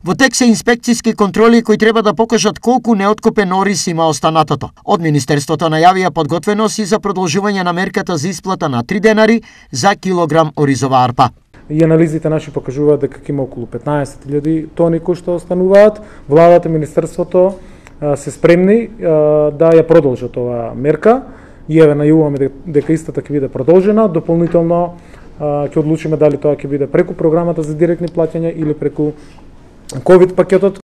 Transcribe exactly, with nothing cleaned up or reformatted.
Во тек се инспекциски контроли кои треба да покажат колку неоткупен ориз има останатото. Од Министерството најавија подготвеност и за продолжување на мерката за исплата на три денари за килограм оризова арпа. И анализите наши покажуваат дека има околу петнаесет илјади тони кои што остануваат. Владата и Министерството се спремни да ја продолжат оваа мерка и еве најавуваме дека истата ќе биде продолжена. Дополнително ќе одлучиме дали тоа ќе биде преку програмата за директни плаќања или преку ковид пакетот.